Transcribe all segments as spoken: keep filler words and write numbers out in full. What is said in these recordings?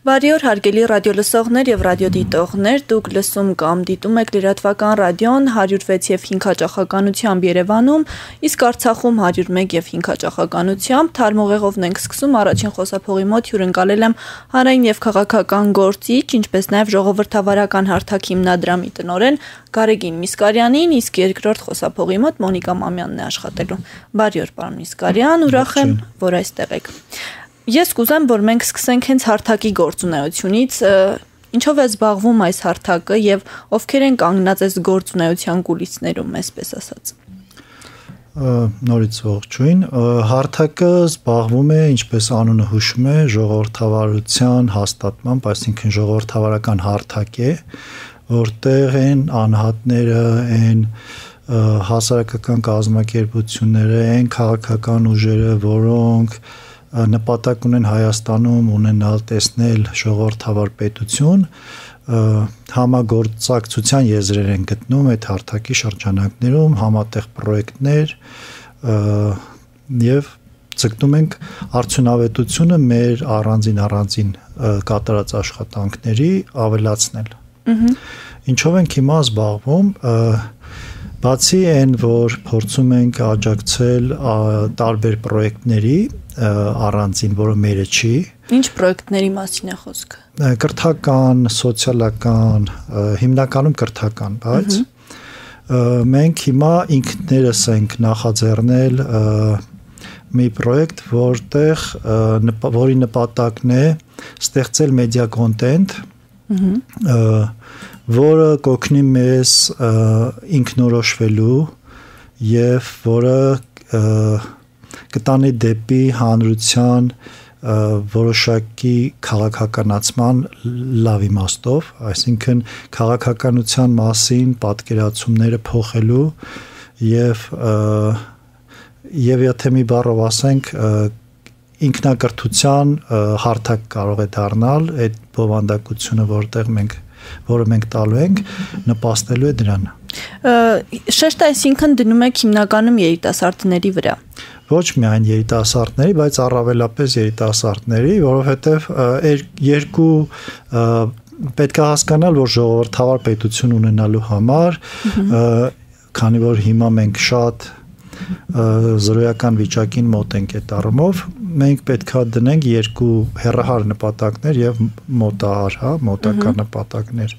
Բարի օր, հարգելի ռադիոլսողներ եւ ռադիոդիտողներ, դուք լսում կամ դիտում եք Լրատվական ռադիոն հարյուր վեց եւ հինգ հաճախականությամբ Երևանում, իսկ Արցախում հարյուր մեկ եւ հինգ հաճախականությամբ թարմուղեղովն ենք սկսում առաջին խոսափողի մոտ հյուրընկալել եմ հանրային եւ քաղաքական գործիչ, ինչպես նաեւ ժողովրդավարական հարթակ հիմնադրամի տնօրեն Գարեգին Միսկարյանին, իսկ երկրորդ խոսափողի մոտ Մոնիկա Մամյանն է աշխատելու։ Բարի օր, պարոն Միսկարյան, ուրախ եմ, որ այստեղ եք։ Ես կուզեմ, որ մենք սկսենք հենց հարթակի գործունեությունից, ինչով է զբաղվում այս հարթակը եւ ովքեր են կանգնած այս գործունեության կուլիսներում, այսպես ասած։ Նորից ողջույն, հարթակը զբաղվում է, ինչպես անունը հուշում է, ժողովրդավարության հաստատմամբ, այսինքն ժողովրդավարական հարթակ է, որտեղ են անհատները, են հասարակական կազմակերպությունները, են քաղաքական ուժերը, որոնք նպատակ ունեն Հայաստանում ունենալ տեսնել ժողովրդավար պետություն, համագործակցության եզրեր են գտնում այդ հարթակի շրջանակներում, համատեղ պրոյեկտներ եւ ցկտում ենք արդյունավետությունը մեր առանձին առանձին կատարած աշխատանքների ավելացնել։ Ինչով ենք հիմա զբաղվում, բացի այն, որ փորձում ենք աջակցել տարբեր պրոյեկտների առանձին, որը մերը չի։ Ինչ պրոյեկտների մասին է խոսքը։ Կրթական, սոցիալական, հիմնականում կրթական, բայց մենք հիմա ինքներս ենք նախաձեռնել մի պրոյեկտ, որտեղ որի նպատակն է ստեղծել մեդիա կոնտենտ, որը կօգնի մեզ ինքնորոշվելու եւ որը կտանի դեպի հանրության որոշակի քաղաքականացման լավ իմաստով, այսինքն քաղաքականության մասին պատկերացումները փոխելու եւ եւ եթե մի բառով ասենք ինքնակրթության հարթակ կարող է դառնալ այդ բովանդակությունը, որտեղ մենք որը մենք տալու ենք, նպաստելու է դրան։ Շեշտը այսինքն դնում եք հիմնականում երիտասարդների վրա։ Ոչ միայն երիտասարդների, բայց առավելապես երիտասարդների, որովհետև երկու պետք է հասկանալ, որ ժողովրդավար պետություն ունենալու համար, քանի որ հիմա մենք շատ զրոյական վիճակին մոտ ենք այդ առումով, մենք պետք է դնենք երկու հեռահար նպատակներ եւ մոտահար, հա, մոտակա նպատակներ։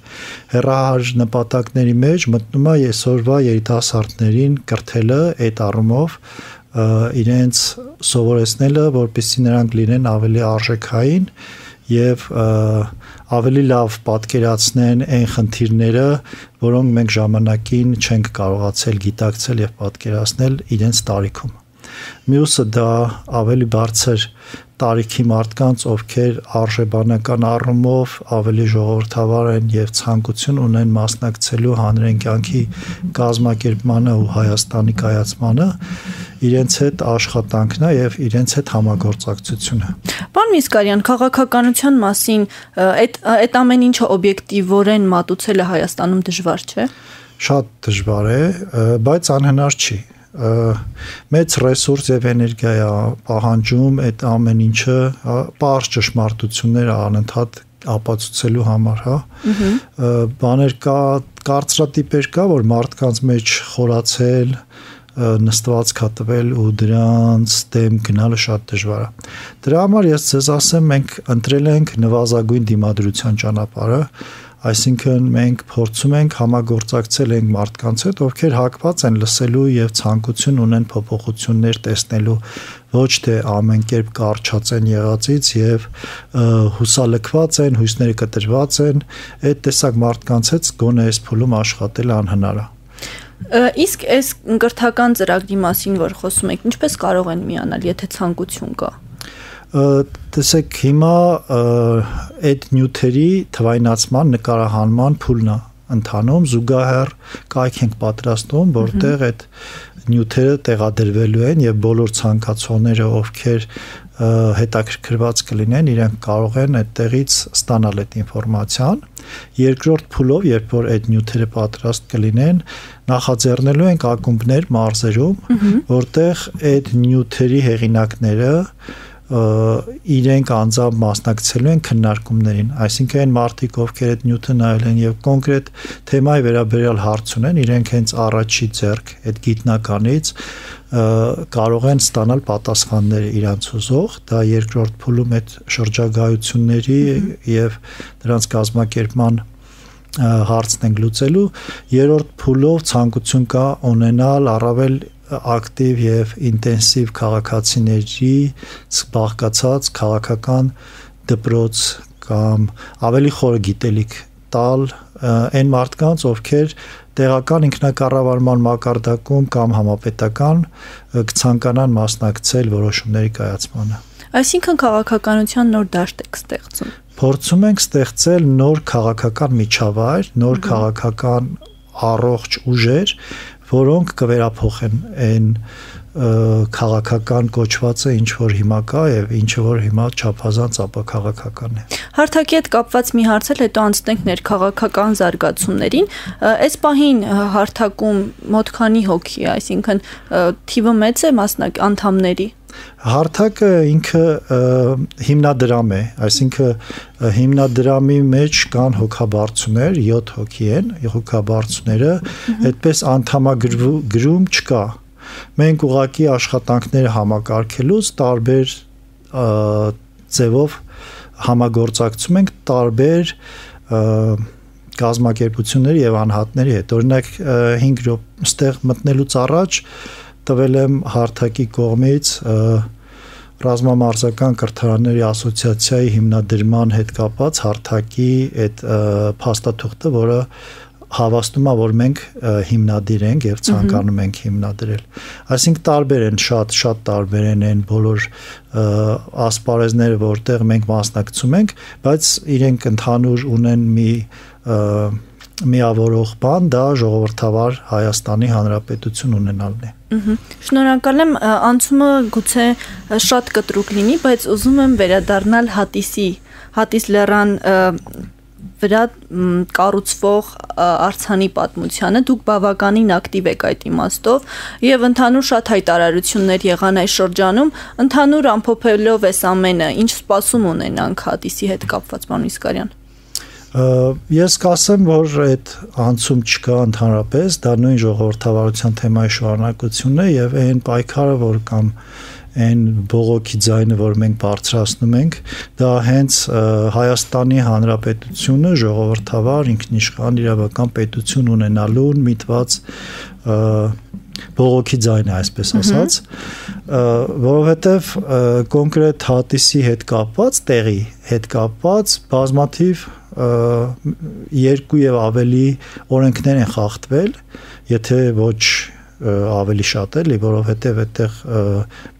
Հեռահար նպատակների մեջ մտնում է այսօրվա երիտասարդներին կրթելը այդ առումով իրենց սովորեցնելը, որպեսզի նրանք լինեն ավելի արժեքային եւ ավելի լավ պատկերացնեն այն խնդիրները, որոնք մենք ժամանակին չենք կարողացել գիտակցել եւ պատկերացնել իրենց տարիքում։ Մյուսը դա ավելի բարձր տարիքի մարդկանց, ովքեր արժեբանական առումով ավելի ժողովրդավար են եւ ցանկություն ունեն մասնակցելու հանրային կյանքի կազմակերպմանը ու Հայաստանի կայացմանը, իրենց հետ աշխատանքն է եւ իրենց հետ համագործակցությունը։ Պարոն Միսկարյան, քաղաքականության մասին այդ այդ ամեն ինչը օբյեկտիվորեն մատուցելը Հայաստանում դժվար չէ։ Շատ դժվար է, բայց անհնար չի։ Մեծ ռեսուրս եւ էներգիա է պահանջում այդ ամեն ինչը պարզ ճշմարտություններ անընդհատ ապացուցելու համար, հա։ Բաներ կա, կարծրատիպեր կա, որ մարդկանց մեջ խորացել, նստված կատվել ու դրանց դեմ գնալը շատ դժվար է։ Դրա համար ես ձեզ ասեմ, մենք ընտրել ենք նվազագույն դիմադրության ճանապարհը, այսինքն մենք փորձում ենք համագործակցել ենք մարդկանց հետ, ովքեր հակված են լսելու եւ ցանկություն ունեն փոփոխություններ տեսնելու, ոչ թե ամեն կերպ կարճած են եղածից եւ հուսալքված են, հույսները կտրված են, այդ տեսակ մարդկանց հետ գոնե այս փուլում աշխատել անհնար է։ Իսկ այս կրթական ծրագրի մասին, որ խոսում եք, ինչպես կարող են միանալ, եթե ցանկություն կա։ Տեսեք, հիմա այդ նյութերի թվայնացման նկարահանման փուլն է ընթանում, զուգահեռ կայք ենք պատրաստում, որտեղ այդ նյութերը տեղադրվելու են եւ բոլոր ցանկացողները, ովքեր հետաքրքրված կլինեն, իրենք կարող են այդտեղից ստանալ այդ ինֆորմացիան։ Երկրորդ փուլով, երբ որ այդ նյութերը պատրաստ կլինեն, նախաձեռնելու ենք ակումբներ մարզերում, որտեղ այդ նյութերի հեղինակները իրենք անձամբ մասնակցելու են քննարկումներին, այսինքն այն մարդիկ, ովքեր այդ նյութը նայել են եւ կոնկրետ թեմայի վերաբերյալ հարց ունեն, իրենք հենց առաջի ձեռք այդ գիտնականից կարող են ստանալ պատասխանները իրանց ուզող, դա երկրորդ փուլում այդ շրջագայությունների եւ դրանց կազմակերպման հարցն ենք լուծելու, երրորդ փուլով ցանկություն կա ունենալ առավել ակտիվ եւ ինտենսիվ քաղաքացիների բաղկացած քաղաքական դպրոց կամ ավելի խորը գիտելիք տալ այն մարդկանց, ովքեր տեղական ինքնակառավարման մակարդակում կամ համապետական կցանկանան մասնակցել որոշումների կայացմանը։ Այսինքն քաղաքականության նոր դաշտ եք ստեղծում։ Փորձում ենք ստեղծել նոր քաղաքական միջավայր, նոր քաղաքական առողջ ուժեր, որոնք կվերափոխեն այն քաղաքական կոչվածը, ինչ որ հիմա կա եւ ինչը որ հիմա չափազանց ապաքաղաքական է։ Հարթակի հետ կապված մի հարց էլ հետո անցնենք ներքաղաքական զարգացումներին։ Այս պահին հարթակում մոտ քանի հոգի է, այսինքն թիվը մեծ է մասնակ անդամների։ Հարթակը ինքը հիմնադրամ է, այսինքն հիմնադրամի մեջ կան հոգաբարձուներ, յոթ հոգի են, հոգաբարձուները, այդպես անդամագրում չկա։ Մենք ուղղակի աշխատանքները համակարգելուց տարբեր ձևով համագործակցում ենք տարբեր կազմակերպությունների եւ անհատների հետ։ Օրինակ հինգ րոպե ստեղ մտնելուց առաջ տվել եմ հարթակի կողմից ռազմամարզական կրթարանների ասոցիացիայի հիմնադրման հետ կապված հարթակի այդ փաստաթուղթը, որը հավաստում է, որ մենք հիմնադիր ենք եւ ցանկանում ենք հիմնադրել։ Այսինքն տարբեր են, շատ շատ տարբեր են այն բոլոր ասպարեզները, որտեղ մենք մասնակցում ենք, բայց իրենք ընդհանուր ունեն մի միավորող բան, դա ժողովրդավար Հայաստանի Հանրապետություն ունենալն է։ Շնորհակալ եմ, անցումը գուցե շատ կտրուկ լինի, բայց ուզում եմ վերադառնալ Հատիսի, Հատիս լեռան վրա կառուցվող արձանի պատմությանը։ Դուք բավականին ակտիվ եք այդ իմաստով եւ ընդհանուր շատ հայտարարություններ եղան այս շրջանում, ընդհանուր ամփոփելով այս ամենը, ինչ սպասում ունենանք Հատիսի հետ կապված, պարոն Իսկարյան։ Ես կասեմ, որ այդ անցում չկա ընդհանրապես, դա նույն ժողովրդավարության թեմայի շարունակությունն է եւ այն պայքարը, որ կամ այն բողոքի ձայնը, որ մենք բարձրացնում ենք, դա հենց Հայաստանի Հանրապետությունը ժողովրդավար ինքնիշխան իրավական պետություն ունենալուն միտված բողոքի ձայն է, այսպես ասած, որովհետև կոնկրետ Հատիսի հետ կապված, տեղի հետ կապված բազմաթիվ երկու եւ ավելի օրենքներ են խախտվել, եթե ոչ ավելի շատ էլի, որովհետև այդտեղ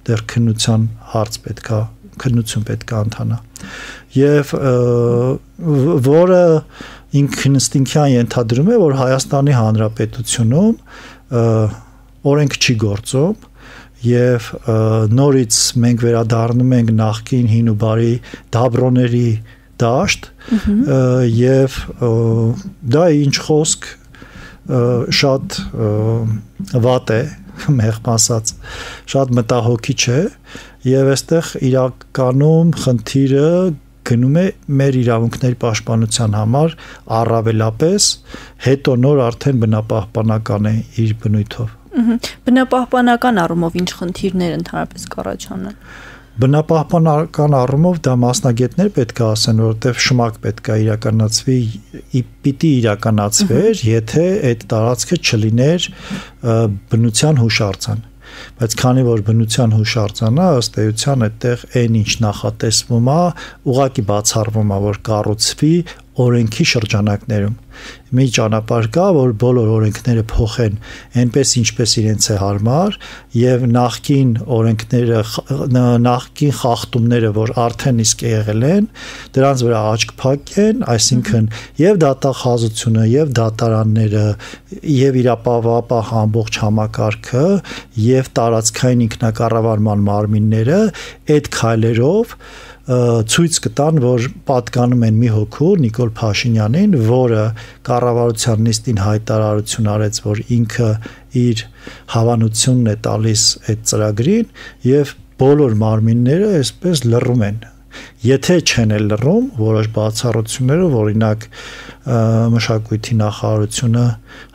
դեռ քննության հարց պետքա, քննություն պետքա ընթանա։ Եվ որը ինքնըստինքյան ենթադրում է, որ Հայաստանի Հանրապետությունում օրենք չի գործում եւ նորից մենք վերադառնում ենք նախկին հին ու բարի դաբրոների դաշտ եւ դա ինչ խոսք շատ վատ է, մեղմ ասած, շատ մտահոգիչ է եւ այստեղ իրականում խնդիրը գնում է մեր իրավունքների պաշտպանության համար առավելապես, հետո նոր արդեն բնապահպանական է իր բնույթով։ Բնապահպանական առումով ինչ խնդիրներ ընդհանրապես կառաջանան։ Բնապահպանական առումով դա մասնագետներ պետք է ասեն, որովհետև շմակ պետք է իրականացվի, պիտի իրականացվեր, եթե այդ տարածքը չլիներ բնության հուշարձան։ Բայց քանի որ բնության հուշարձանը ըստ էության այդտեղ այն ինչ նախատեսվում է, ուղղակի բացառվում է, որ կառուցվի օրենքի շրջանակներում։ Մի ճանապարհ կա, որ բոլոր օրենքները փոխեն այնպես ինչպես իրենց է հարմար եւ նախքին օրենքները նախքին խախտումները, որ արդեն իսկ եղել են, դրանց վրա աչք փակեն, այսինքն եւ դատախազությունը եւ դատարանները եւ իրապահապահ ամբողջ համակարգը եւ տարածքային ինքնակառավարման մարմինները այդ քայլերով ցույց կտան, որ պատկանում են մի հոգու Նիկոլ Փաշինյանին, որը կառավարության նիստին հայտարարություն արեց, որ ինքը իր հավանությունն է տալիս այդ ծրագրին եւ բոլոր մարմինները այսպես լռում են։ Եթե չեն էլ լռում, որոշ բացառություններով, օրինակ մշակույթի նախարարությունը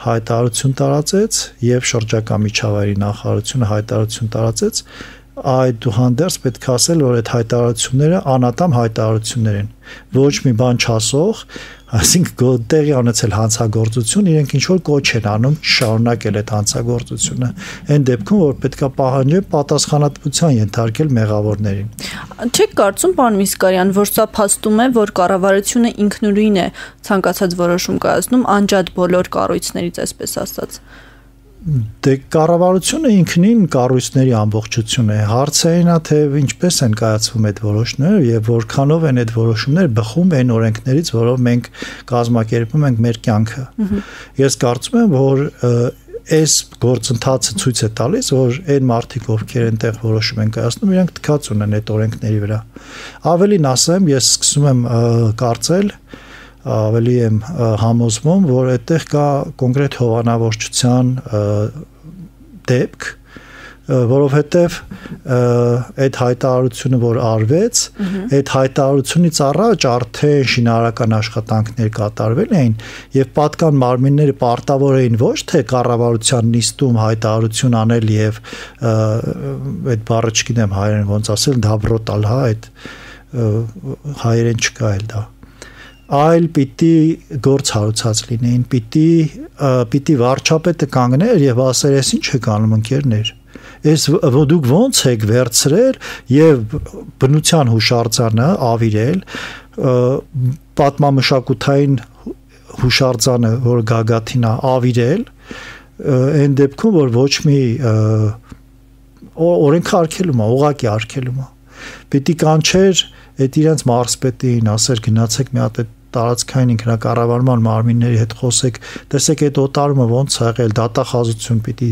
հայտարարություն տարածեց եւ շրջակա միջավայրի նախարարությունը հայտարարություն տարածեց, այդուհանդերձ պետք է ասել, որ այդ հայտարարությունները անատամ հայտարարություններ են, ոչ մի բան չասող, այսինքն տեղի ունեցել հանցագործություն, իրենք ինչ որ կոչ են անում շարունակել այդ հանցագործությունը, այն դեպքում, որ պետք է պահանջեն պատասխանատվության ենթարկել մեղավորներին։ Չեք կարծում, պարոն Միսկարյան, որ սա փաստում է, որ կառավարությունը ինքնուրույն է ցանկացած որոշում կայացնում անջատ բոլոր կառույցներից, այսպես ասած։ Դե կառավարությունը ինքնին կառույցների ամբողջություն է, հարցը այն է, թե ինչպես են կայացվում այդ որոշումները եւ որքանով են այդ որոշումները բխում այն օրենքներից, որով մենք կազմակերպում ենք մեր կյանքը։ Ես կարծում եմ, որ այս գործընթացը ցույց է տալիս, որ այն մարդիկ, ովքեր այնտեղ որոշում են կայացնում, իրենք թքած ունեն այդ օրենքների վրա։ Ավելին ասեմ, ես սկսում եմ կարծել, ավելի եմ համոզվում, որ այդտեղ կա կոնկրետ հովանավորչության դեպք, որովհետև այդ հայտարարությունը, որ արվեց, այդ հայտարարությունից առաջ արդեն շինարարական աշխատանքներ կատարվել էին եւ պատկան մարմինները պարտավոր էին ոչ թե կառավարության նիստում հայտարարություն անել եւ այդ բառը չգիտեմ հայերեն ոնց ասել, դաբրոտալ, հա, այդ հայերեն չկա էլ դա, այլ պիտի գործ հարուցած լինեին, պիտի պիտի վարչապետը կանգներ եւ ասեր, ես ինչ եք անում ընկերներ, ես դուք ոնց եք վերցրել եւ բնության հուշարձանը ավիրել, պատմամշակութային հուշարձանը, որ գագաթին է, ավիրել, այն դեպքում, որ ոչ մի օրենքը արգելում է, ուղղակի արգելում է, պիտի կանչեր այդ իրենց մարզպետին, ասեր գնացեք մի հատ տարածքային ինքնակառավարման մարմինների հետ խոսեք, տեսեք այդ օտարումը ոնց է եղել, դատախազություն պիտի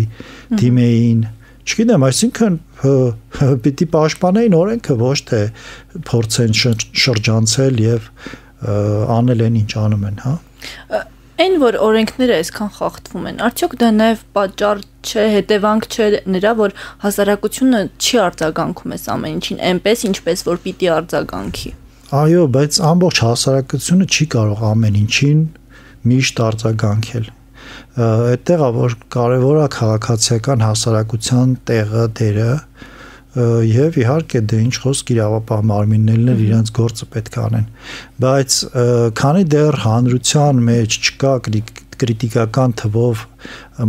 դիմեին, չգիտեմ, այսինքն պիտի պաշտպանեին օրենքը, ոչ թե փորձեն շրջանցել եւ անել են ինչ անում են, հա։ Այն, որ օրենքները այսքան խախտվում են, արդյոք դա նաև պատճառ չէ, հետևանք չէ նրա, որ հասարակությունը չի արձագանքում այս ամեն ինչին, այնպես ինչպես որ պիտի արձագանքի։ Այո, բայց ամբողջ հասարակությունը չի կարող ամեն ինչին միշտ արձագանքել։ Այդտեղ է, որ կարևոր է քաղաքացիական հասարակության տեղը, դերը եւ իհարկե դե ինչ խոսք իրավապահ մարմիններն էլ իրենց գործը պետք է անեն, բայց քանի դեռ հանրության մեջ չկա կրիտիկական թվով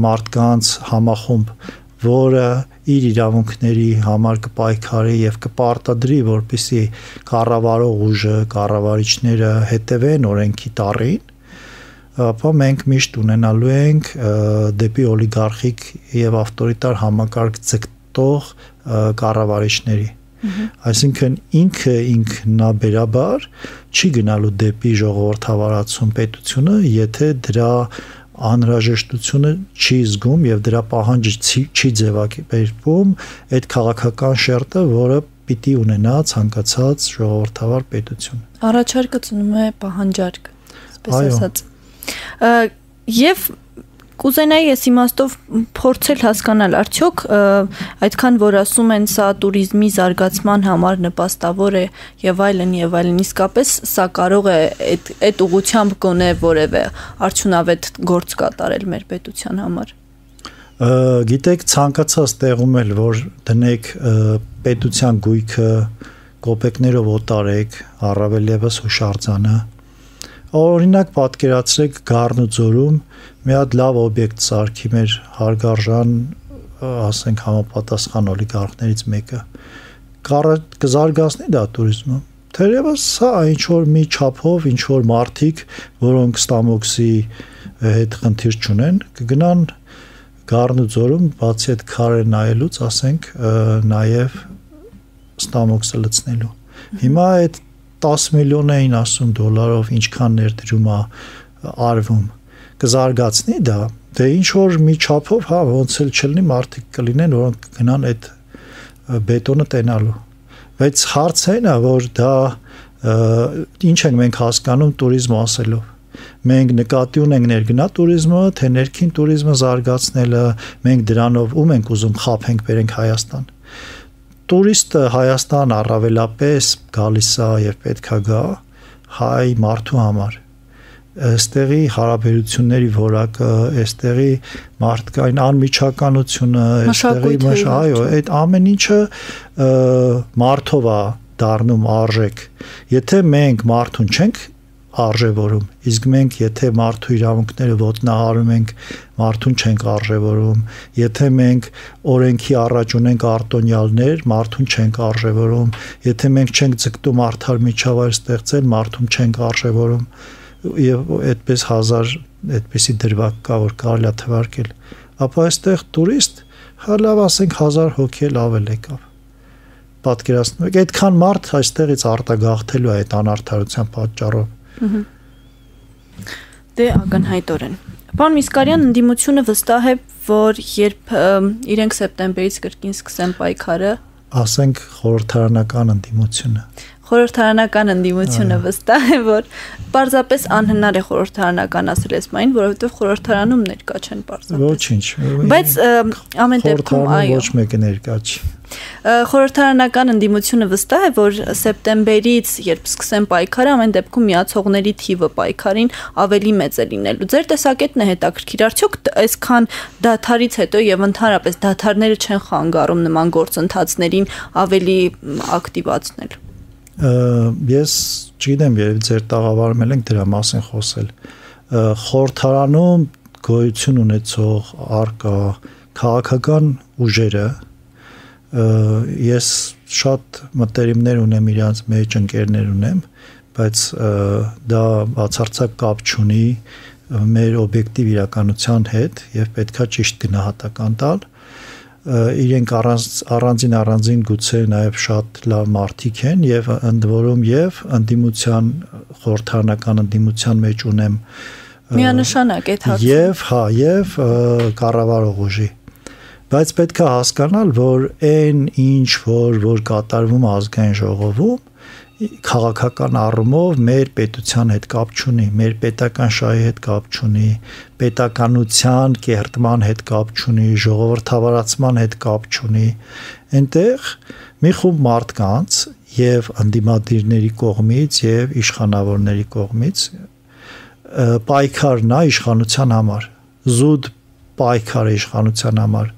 մարդկանց համախումբ, որը իր իրավունքների համար կպայքարի եւ կպարտադրի, որպեսզի կառավարող ուժը, կառավարիչները հետևեն օրենքի տառին, ապա մենք միշտ ունենալու ենք դեպի օլիգարխիկ եւ ավտորիտար համակարգ ձգտող կառավարիչների, այսինքն ինքը ինքնաբերաբար չի գնալու դեպի ժողովրդավարացում պետությունը, եթե դրա անհրաժեշտությունը չի զգում եւ դրա պահանջը չի ձևակերպվում այդ քաղաքական շերտը, որը պիտի ունենա ցանկացած ժողովրդավար պետություն։ Առաջարկը ծնում է պահանջարկ, այսպես ասած։ Եվ կուզենայի ես իմաստով փորձել հասկանալ, արդյոք այդքան որ ասում են սա туриզմի զարգացման համար նպաստավոր է եւ այլն եւ այլն, իսկապես սա կարող է այդ այդ ուղղությամբ գոնե որևէ արդյունավետ գործ կատարել մեր պետության համար։ Գիտեք, ցանկացած տեղում էլ որ դնեք պետության գույքը, կոպեկներով օտարեք, առավել եւս հուշարձանը, օրինակ պատկերացրեք Գառնուձորում մի հատ լավ օբյեկտ սարքի մեր հարգարժան, ասենք համապատասխան օլիգարխներից մեկը, կզարգացնի դա туриզմը։ Թերևս սա ինչ որ մի չափով, ինչ որ մարդիկ, որոնք ստամոքսի հետ խնդիր չունեն, կգնան Գառնուձորում բացի այդ քարը նայելուց, ասենք, նաև ստամոքսը լցնելու։ Հիմա այդ տասը միլիոն էին ասում դոլարով ինչքան ներդրում է արվում, կզարգացնի դա, դե ինչ որ մի չափով, հա, ոնց էլ չլինի մարդիկ կլինեն, որոնք գնան այդ բետոնը տենալու, բայց հարցը այն է, որ դա ինչ ենք մենք հասկանում туриզմ ասելով, մենք նկատի ունենք ներգնա туриզմը, թե ներքին туриզմը զարգացնելը, մենք դրանով ում ենք ուզում խափենք բերենք Հայաստան, տուրիստը Հայաստան առավելապես գալիս է եւ պետքա գա հայ մարդու համար այստեղի հարաբերությունների որակը, այստեղի մարդկային անմիջականությունը, այստեղի այո, այդ ամեն ինչը մարդով է դառնում արժեք։ Եթե մենք մարդուն չենք արժևորում, իսկ մենք եթե մարդու իրավունքները ոտնահարում ենք, մարդուն չենք արժևորում, եթե մենք օրենքի առաջ ունենք արտոնյալներ, մարդուն չենք արժևորում, եթե մենք չենք ձգտում արդար միջավայր ստեղծել, մարդուն չենք արժևորում, եւ այդպես հազար այդպիսի դրվագ կա որ կարելի է թվարկել, ապա այստեղ տուրիստ հալավ ասենք հազար հոգի ավել եկավ։ Պատկերացնում եք, այդքան մարդ այստեղից արտագաղթելու է այդ անարդարության պատճառով։ Դե ակնհայտորեն։ Պարոն Միսկարյան, ընդդիմությունը վստահ է, որ երբ իրենք սեպտեմբերից կրկին սկսեն պայքարը, ասենք խորհրդարանական ընդդիմությունը խորհրդարանական ընդդիմությունը վստահ է, որ պարզապես անհնար է խորհրդարանական ասել էսմային, որովհետև խորհրդարանում ներկա չեն պարզապես։ Ոչինչ։ Բայց ամեն դեպքում այո։ Ոչ մեկը ներկա չի։ Խորհրդարանական ընդդիմությունը վստահ է, որ սեպտեմբերից, երբ սկսեն պայքարը, ամեն դեպքում միացողների թիվը պայքարին ավելի մեծ է լինելու։ Ձեր տեսակետն է հետաքրքիր, արդյոք այսքան դադարից հետո եւ ընդհանրապես դադարները չեն խանգարում նման գործընթացներին ավելի ակտիվացնել։ Ես չգիտեմ, երբ ձեր տաղավարում ենք դրա մասին խոսել։ Խորհրդարանում գոյություն ունեցող արկա քաղաքական ուժերը ես շատ մտերիմներ ունեմ իրանց մեջ ընկերներ ունեմ, բայց դա բացարձակ կապ չունի մեր օբյեկտիվ իրականության հետ եւ պետքա ճիշտ գնահատական տալ։ Իրենք առանց առանձին առանձին գուցե նաև շատ լավ մարդիկ են եւ ընդ որում եւ ընդդիմության խորհրդարանական ընդդիմության մեջ ունեմ միանշանակ այդ հարցը եւ հա եւ կառավարող ուժի, բայց պետք է հասկանալ, որ այն ինչ որ որ կատարվում ազգային ժողովում քաղաքական առումով մեր պետության հետ կապ չունի, մեր պետական շահի հետ կապ չունի, պետականության կերտման հետ կապ չունի, ժողովրդավարացման հետ կապ չունի։ Այնտեղ մի խումբ մարդկանց եւ ընդդիմադիրների կողմից եւ իշխանավորների կողմից պայքարն է իշխանության համար, զուտ պայքար է իշխանության համար,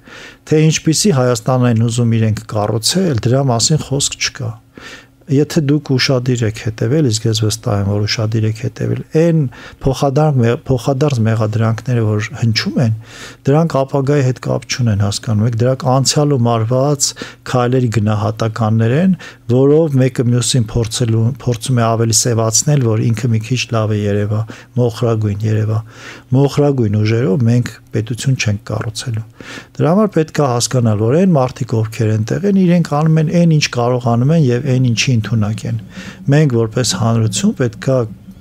թե ինչպիսի Հայաստան են ուզում իրենք կառուցել, դրա մասին խոսք չկա։ Եթե դուք ուշադիր եք հետևել, իսկ ես վստահ եմ, որ ուշադիր եք հետևել, այն փոխադարձ փոխադարձ մեղադրանքները, որ հնչում են, դրանք ապագայի հետ կապ չունեն, հասկանում եք, դրանք անցյալում արված քայլերի գնահատականներ են, որով մեկը մյուսին փորձելու փորձում է ավելի սևացնել, որ ինքը մի քիչ լավ է երևա, մոխրագույն երևա։ Մոխրագույն ուժերով մենք պետություն չենք կառուցելու։ Դրա համար պետք է հասկանալ, որ այն մարդիկ, ովքեր այնտեղ են, իրենք անում են այն, ինչ կարողանում են եւ այն, ինչի ընդունակ են։ Մենք որպես հանրություն պետք է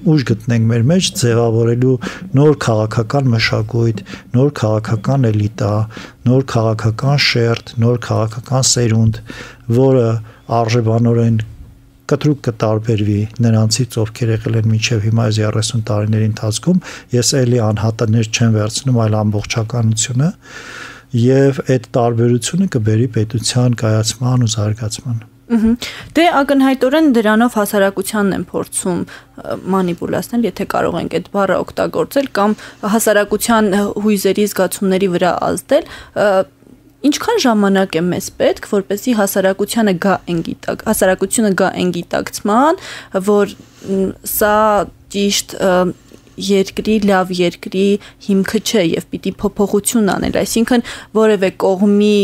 ուժ գտնենք մեր մեջ ձևավորելու նոր քաղաքական մշակույթ, նոր քաղաքական էլիտա, նոր քաղաքական շերտ, նոր քաղաքական սերունդ, որը արժեվանորեն կտրուկ կտարբերվի նրանցից, ովքեր եղել են մինչև հիմա այս երեսուն տարիների ընթացքում, ես էլի անհատներ չեմ վերցնում, այլ ամբողջականությունը, եւ այդ տարբերությունը կբերի պետության կայացման ու զարգացման։ Դե ակնհայտորեն դրանով հասարակությանն են փորձում մանիպուլացնել, եթե կարող ենք այդ բառը օգտագործել, կամ հասարակության հույզերի զգացումների վրա ազդել, ինչքան ժամանակ է մեզ պետք, որպեսզի հասարակությանը գա այն գիտակ, հասարակությունը գա այն գիտակցման, որ սա ճիշտ երկրի լավ երկրի հիմքը չէ եւ պիտի փոփոխություն անել, այսինքն որևէ կողմի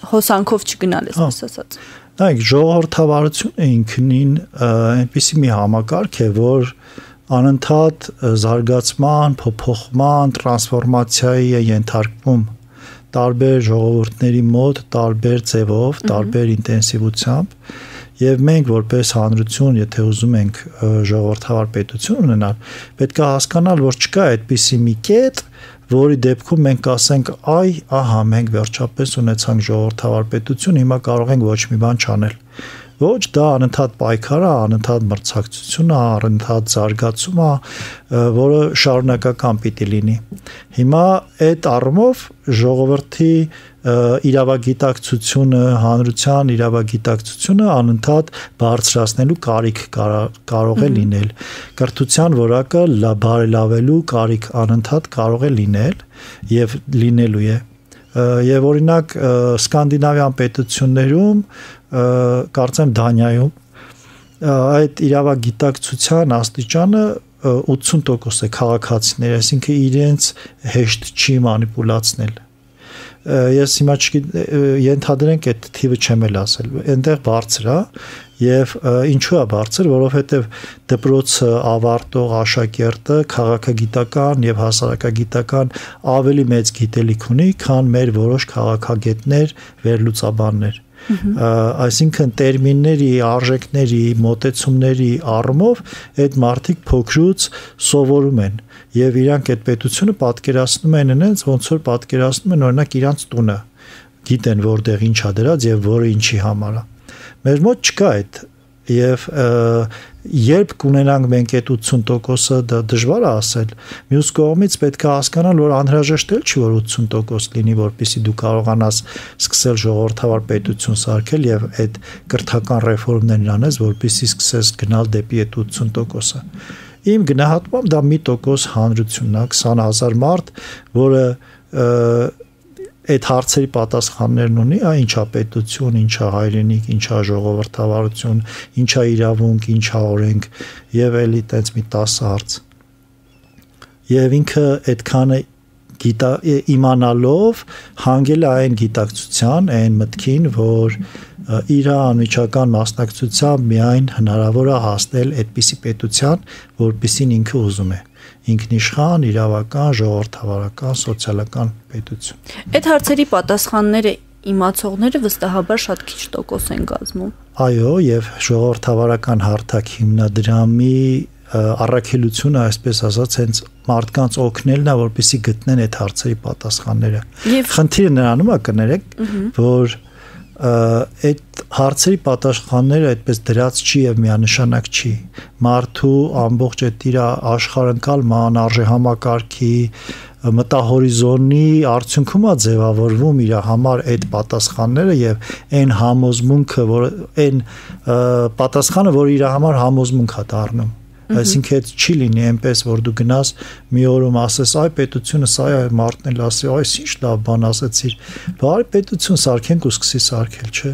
հոսանքով չգնալ, այսպես ասած։ Նայեք, ժողովրդավարությունը ինքնին այնպիսի մի համակարգ է, որ անընդհատ զարգացման, փոփոխման, տրանսֆորմացիայի է ենթարկվում տարբեր ժողովուրդների մոտ, տարբեր ձևով, տարբեր ինտենսիվությամբ, եւ մենք որպես հանրություն, եթե ուզում ենք ժողովրդավար պետություն ունենալ, պետք է հասկանալ, որ չկա այդպիսի մի կետ, որի դեպքում մենք ասենք, այ, ահա, մենք վերջապես ունեցանք ժողովրդավար պետություն, հիմա կարող ենք ոչ մի բան չանել։ Ոչ, դա անընդհատ պայքար է, անընդհատ մրցակցություն է, անընդհատ զարգացում է, որը շարունակական պիտի լինի։ Հիմա այդ առումով ժողովրդի իրավագիտակցությունը, հանրության իրավագիտակցությունը անընդհատ բարձրացնելու կարիք կարող է լինել։ Կրթության որակը բարելավելու կարիք անընդհատ կարող է լինել եւ լինելու է։ Եվ օրինակ սկանդինավյան պետություններում, կարծեմ Դանիայում, այդ իրավագիտակցության աստիճանը ութսուն տոկոս է քաղաքացիներ, այսինքն իրենց հեշտ չի մանիպուլացնել։ Ես հիմա ենթադրենք այդ թիվը չեմ էլ ասել, այնտեղ բարձր է եւ ինչու է բարձր, որովհետեւ դպրոցը ավարտող աշակերտը քաղաքագիտական եւ հասարակագիտական ավելի մեծ գիտելիք ունի, քան մեր որոշ քաղաքագետներ, վերլուծաբաններ։ Այսինքն տերմինների, արժեքների, մոտեցումների առումով այդ մարդիկ փոքրուց սովորում են եւ իրանք այդ պետությունը պատկերացնում են այնց, ոնց որ պատկերացնում են օրինակ իրանք տունը, գիտեն որտեղ ինչ է դրած եւ որը ինչի համար է։ Մեր մոտ չկա այդ եւ երբ կունենանք մենք այդ ութսուն տոկոսը, դա դժվար է ասել։ Մյուս կողմից պետք է հասկանալ, որ անհրաժեշտ էլ չի, որ ութսուն տոկոս լինի, որպեսզի դու կարողանաս սկսել ժողովրդավար պետություն սարքել եւ այդ կրթական ռեֆորմներն անես, որպեսզի սկսես գնալ դեպի այդ ութսուն տոկոսը։ Իմ գնահատմամբ դա մի տոկոս հանրությունն է, քսան հազար մարդ, որը այդ հարցերի պատասխաններն ունի, այ ինչա պետություն, ինչա հայրենիք, ինչա ժողովրդավարություն, ինչա իրավունք, ինչա օրենք եւ էլի տենց մի տասը հարց։ Եվ ինքը այդքանը գիտա իմանալով հանգել է այն գիտակցության, այն մտքին, որ իր անմիջական մասնակցությամբ միայն հնարավոր է հասնել այդպիսի պետության, որպիսին ինքը ուզում է։ Ինքնիշխան, իրավական, ժողովրդավարական, սոցիալական պետություն։ Այդ հարցերի պատասխանները իմացողները վստահաբար շատ քիչ տոկոս են կազմում։ Այո, եւ ժողովրդավարական հարթակ հիմնադրամի առաքելությունը, այսպես ասած, հենց մարդկանց օգնելն է, որպեսզի գտնեն այդ հարցերի պատասխանները։ Խնդիրը նրանում է, կներեք, որ այդ հարցերի պատասխանները այդպես դրած չի եւ միանշանակ չի։ Մարդու ամբողջ այդ իր աշխարհընկալման, արժեհամակարգի, մտահորիզոնի արդյունքում է ձևավորվում իր համար այդ պատասխանները եւ այն համոզմունքը, որ այն պատասխանը, որ իր համար համոզմունք է դառնում։ Այսինքն այդ չի լինի այնպես, որ դու գնաս մի օրում ասես, այ պետությունը սա է, մարդն էլ ասի, այս ինչ լավ բան ասեցիր, բարի պետություն սարքենք ու սկսի սարքել, չէ։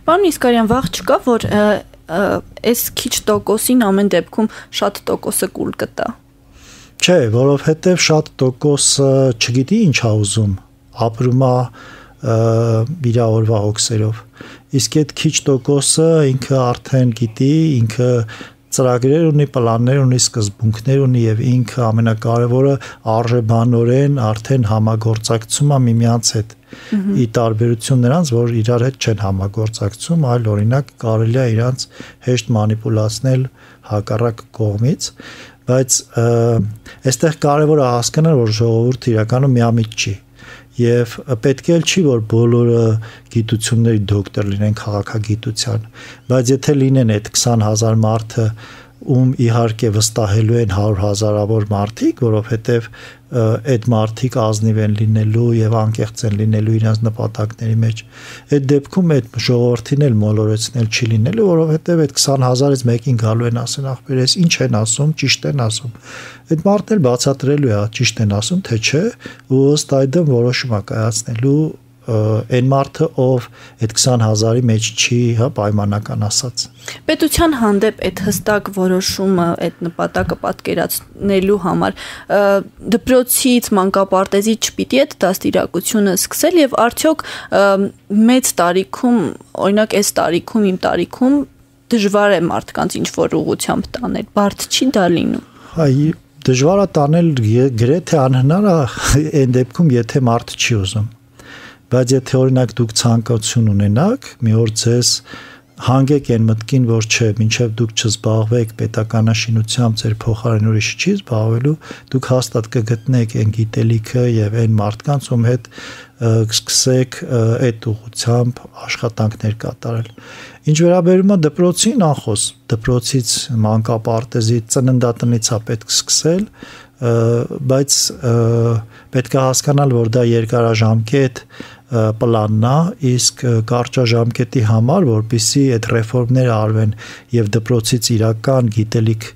Պարոն Իսկարյան, վաղ չկա, որ այս քիչ տոկոսին ամեն դեպքում շատ տոկոսը կուլ կտա։ Չէ, որովհետև շատ տոկոսը չգիտի ինչ է ուզում, ապրում է իր օրվա հոգսերով։ Իսկ այդ քիչ տոկոսը ինքը արդեն գիտի, ինքը ծրագրեր ունի, պլաններ ունի, սկզբունքներ ունի եւ ինքը ամենակարևորը արժեբանորեն արդեն համագործակցում է միմյանց հետ։ Ի տարբերություն նրանց, որ իրար հետ չեն համագործակցում, այլ օրինակ կարելի է իրանց հեշտ մանիպուլացնել հակառակ կողմից, բայց այստեղ կարևոր է հասկանալ, որ ժողովուրդը իրականում միամիտ չի։ Եվ պետք է չի, որ բոլորը գիտությունների դոկտոր լինեն քաղաքագիտության, բայց եթե լինեն այդ քսան հազար մարդը, ում իհարկե վստահելու են հարյուր հազարավոր մարդիկ, որովհետև այդ մարդիկ ազնիվ են լինելու եւ անկեղծ են լինելու իրենց նպատակների մեջ։ Այդ դեպքում այդ ժողովրդին էլ մոլորեցնել չի լինելու, որովհետև այդ քսան հազարից մեկին գալու են ասեն, ախպերես ինչ են ասում, ճիշտ են ասում։ Այդ մարդն էլ բացատրելու է, ճիշտ են ասում, թե չէ, ու ըստ այդմ որոշում է կայացնելու այն մարդը, ով այդ քսան հազարի մեջ չի, հա, պայմանական ասած։ Պետության հանդեպ այդ հստակ որոշումը, այդ նպատակը պատկերացնելու համար դպրոցից, մանկապարտեզից չպիտի այդ դաստիարակությունը սկսել եւ արդյոք մեծ տարիքում, օրինակ այս տարիքում, իմ տարիքում դժվար է մարդկանց ինչ որ ուղղությամբ տանել, բարդ չի դա լինում։ Այ դժվար է տանել, գրեթե անհնար է այն դեպքում, եթե մարդը չի ուզում։ Բայց եթե օրինակ դուք ցանկություն ունենաք, մի օր ձեզ հանգեք այն մտքին, որ չէ, մինչև դուք չզբաղվեք պետականաշինությամբ, ձեր փոխարեն ուրիշը չի զբաղվելու, դուք հաստատ կգտնեք այն գիտելիքը եւ այն մարդկանց, ում հետ կսկսեք այդ ուղղությամբ աշխատանքներ կատարել։ Ինչ վերաբերում է դպրոցին, անխոս դպրոցից, մանկապարտեզից, ծննդատնից է պետք սկսել, բայց պետք է հասկանալ, որ դա երկարաժամկետ պլանն է, իսկ կարճաժամկետի համար, որպեսզի այդ ռեֆորմները արվեն եւ դպրոցից իրական գիտելիք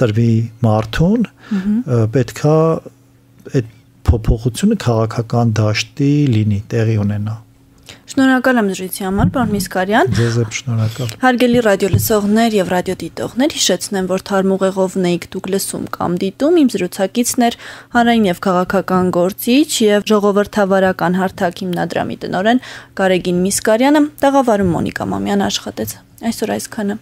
տրվի մարդուն, պետք է այդ փոփոխությունը քաղաքական դաշտի լինի, տեղի ունենա։ Շնորհակալ եմ զրույցի համար, պարոն Միսկարյան։ Ձեզ եմ շնորհակալ։ Հարգելի ռադիոլսողներ եւ ռադիոդիտողներ, հիշեցնեմ, որ թարմուղեղով նեիք դուք լսում կամ դիտում իմ զրուցակիցն էր հանրային եւ քաղաքական գործիչ եւ ժողովրդավարական հարթակ հիմնադրամի տնօրեն Գարեգին Միսկարյանը, տաղավարում Մոնիկա Մամյան աշխատեց։ Այսօր այսքանը։